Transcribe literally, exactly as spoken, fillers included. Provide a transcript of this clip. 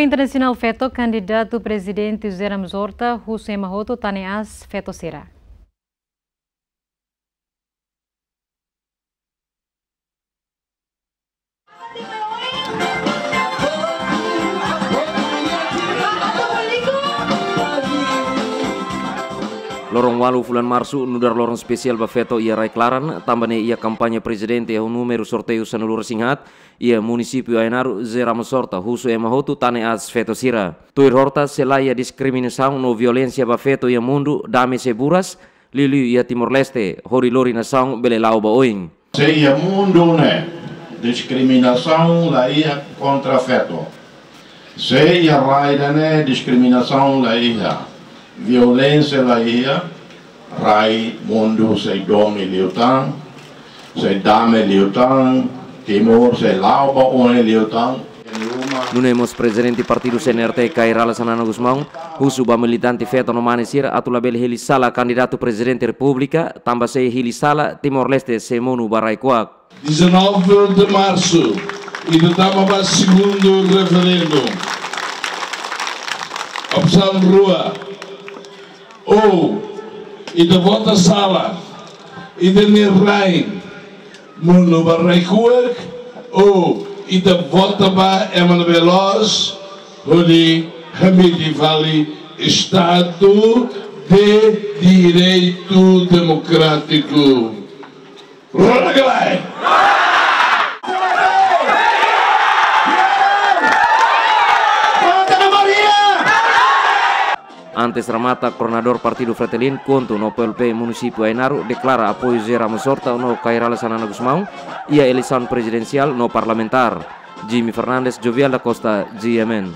Internasionál Feto, kandidatu prezidente José Ramos Horta husu ema hotu tane aas feto sira. Loron ualu fulan Marsu nu'udar loron espesiál ba feto iha rai-klaran, tanba ne'e iha kampaña prezidente iha númeru sorteiu sanulu-resin-haat, iha munisípiu Ainaro, José Ramos Horta husu ema hotu tane aas feto sira. Tuir Horta, se la iha diskriminasaun no violénsia ba feto iha mundu, dame sei buras, liuliu iha Timor-Leste, hodi lori nasaun bele la'o ba oin. Se iha mundu ne'e diskriminasaun la iha kontra feto, se iha rai ida-ne'e diskriminasaun la iha, violénsia la iha, rai mundu sei domin liután, sei dame liután, Timor sei la'o ba oin liután. Nune'e mós prezidente partidu C N R T, Kay Rala Xanana Gusmão, husu ba militante feto no mane sira atu labele hili sala kandidatu prezidente repúblika, tanba se hili sala, Timor-Leste sei monu ba rai kuak. Dezanove de março, ita tama ba segundu referendu. Opsaun rua, ou ita vota sala, ita-nia rain monu ba rai kuak, ou ita vota ba ema ne'ebé loos, hodi hamiti fali Estadu de Direitu Demokrátiku. Rona ka lae? Antes remata, koordenadór partidu Fretilin, KHUNTO no P L P munisípiu Ainaro deklara apoiu José Ramos Horta no Kay Rala Xanana Gusmão iha eleisaun prezidensiál no parlamentár. Jimmy Fernandes, Jovial da Costa, G M N.